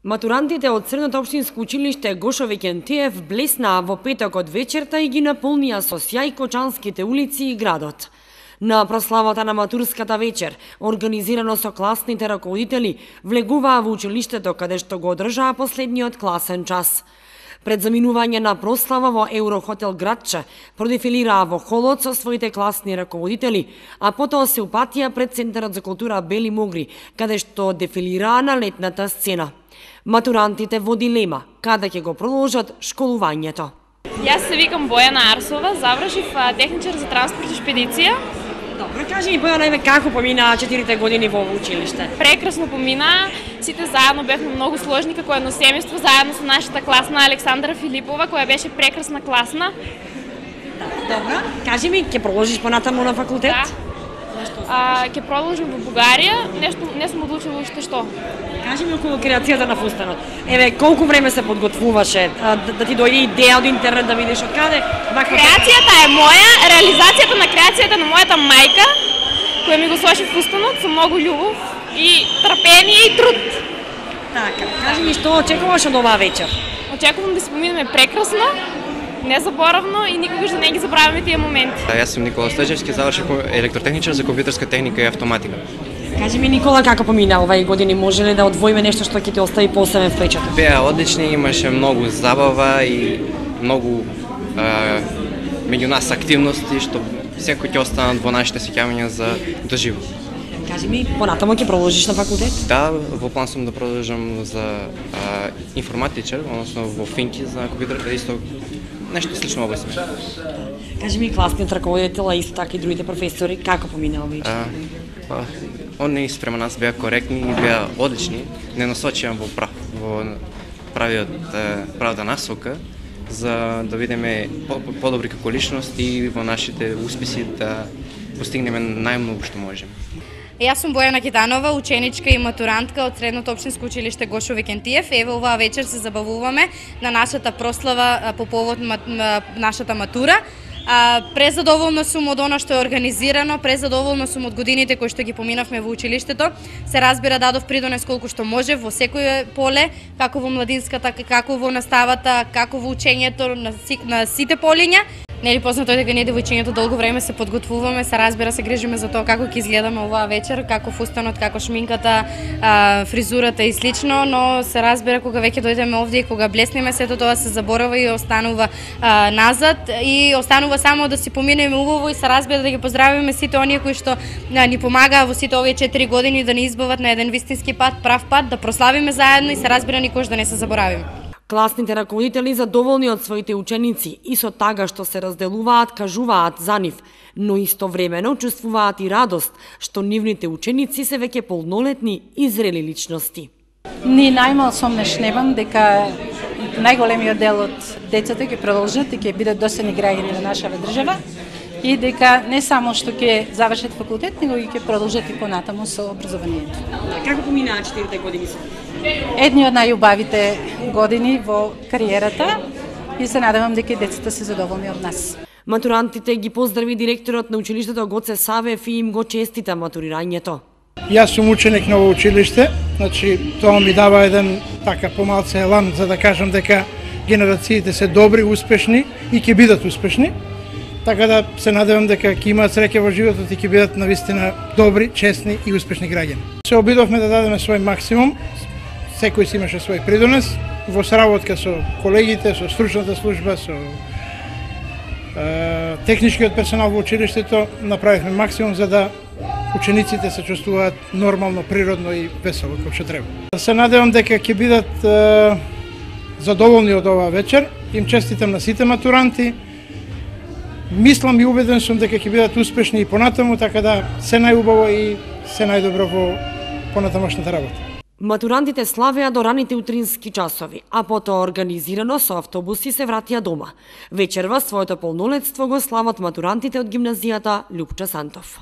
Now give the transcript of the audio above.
Матурантите од Средното општинско училиште Гошо Викентиев блеснаа во петокот вечерта и ги наполнија со сјај кочанските улици и градот. На прославата на матурската вечер, организирано со класните раководители, влегуваа во училиштето каде што го одржаа последниот класен час. Пред заминување на прослава во Еврохотел Градче, продефилираа во холот со своите класни раководители, а потоа се упатија пред Центарот за култура Бели Могри, каде што дефилираа на летната сцена. Матурантите во дилема, каде ќе го продолжат школувањето. Јас се викам Бојана Арсова, завршив техничар за транспорт и шпедиција. Добро, кажи ми Бојана, како поминаа 4 години во училиште? Прекрасно поминаа, сите заедно бевме многу сложни како едно семејство, заедно со нашата класна Александра Филипова, која беше прекрасна класна. Добро, кажи ми, ќе продолжиш понатаму на факултет? Да. Ќе продолжим во Бугарија, нешто не сум одлучила уште што. Кажи ми околу креацијата на фустанот. Еве, колку време се подготвуваше да ти дојде идеја од интернет да видиш од каде? Креацијата е моја, реализацијата на креацијата на мојата мајка, која ми го сложи фустанот со многу љубов и трпение и труд. Така, кажи ми што очекуваш од оваа вечер? Очекувам да се поминеме прекрасно, незаборавно и никогаш да не ги забравиме тие моменти. Јас сум Никола Стојчевски, завршив електротехничар за компјутерска техника и автоматика. Кажи ми, Никола, како помина овај години? Може ли да одвоиме нешто што ќе ти остави посебен впечаток? Беа одлични, имаше многу забава и многу меѓу нас активности што секој ќе останат во нашите сеќавања за доживо. Кажи ми, понатамо ќе продолжиш на факултет? Да, во план сум да продолжам за информатичар, односно во Финки за компјутер, исто нешто слично област. Кажи ми, класниот раководител, а исто така и другите професори, како помина овај? Они спрема нас беа коректни и беа одлични, не насочија во правата насока, за да видиме подобри како личност и во нашите успеси да постигнеме најмногу што можеме. Јас сум Бојана Киданова, ученичка и матурантка од Средното општинско училиште Гошо Викентиев. Еве оваа вечер се забавуваме на нашата прослава по повод нашата матура. Презадоволна сум од она што е организирано, презадоволна сум од годините кои што ги поминавме во училиштето. Се разбира, дадов придонес колку што може во секој поле, како во младинската, како во наставата, како во учењето на сите полиња. Нели познато е дека ние девојчињата долго време се подготвуваме, се разбира, се грижиме за тоа како ќе изгледаме оваа вечер, како фустанот, како шминката, фризурата и слично, но се разбира кога веќе дојдеме овде и кога блеснеме, сето тоа се заборава и останува назад и останува само да си поминеме убаво и се разбира да ги поздравиме сите оние кои што ни помагаа во сите овие 4 години да ни избават на еден вистински пат, прав пат, да прославиме заедно и се разбира никош да не се заборавиме. Класните раководители задоволни од своите ученици и со тага што се разделуваат, кажуваат за нив, но истовремено чувствуваат и радост што нивните ученици се веќе полнолетни и зрели личности. Ни најмал сомнеш немам дека најголемиот дел од децата ќе продолжат и ќе бидат достојни граѓани на нашава држава и дека не само што ќе завршат факултет, него и ќе продолжат и понатаму со образованието. Како поминаа 4 години со? Едни од најубавите години во кариерата и се надевам дека децата се задоволни од нас. Матурантите ги поздрави директорот на училиштето Гоце Савев и им го честита матурирањето. Јас сум ученик на ово училиште, значи тоа ми дава еден така помалце елан за да кажам дека генерациите се добри, успешни и ќе бидат успешни. Така да се надевам дека ќе имаат среќа во животот и ќе бидат навистина добри, честни и успешни граѓани. Се обидовме да дадеме свој максимум, секој си имаше свој придонес, во сработка со колегите, со стручната служба, со техничкиот персонал во училиштето, направивме максимум за да учениците се чувствуваат нормално, природно и весело како што треба. Се надевам дека ќе бидат задоволни од оваа вечер. Им честитам на сите матуранти. Мислам и убеден сум дека ќе бидат успешни и понатаму, така да се најубаво и се најдобро во понатамошната работа. Матурантите славеа до раните утрински часови, а потоа организирано со автобуси се вратија дома. Вечерва своето полнолетство го слават матурантите од гимназијата Љупча Сантов.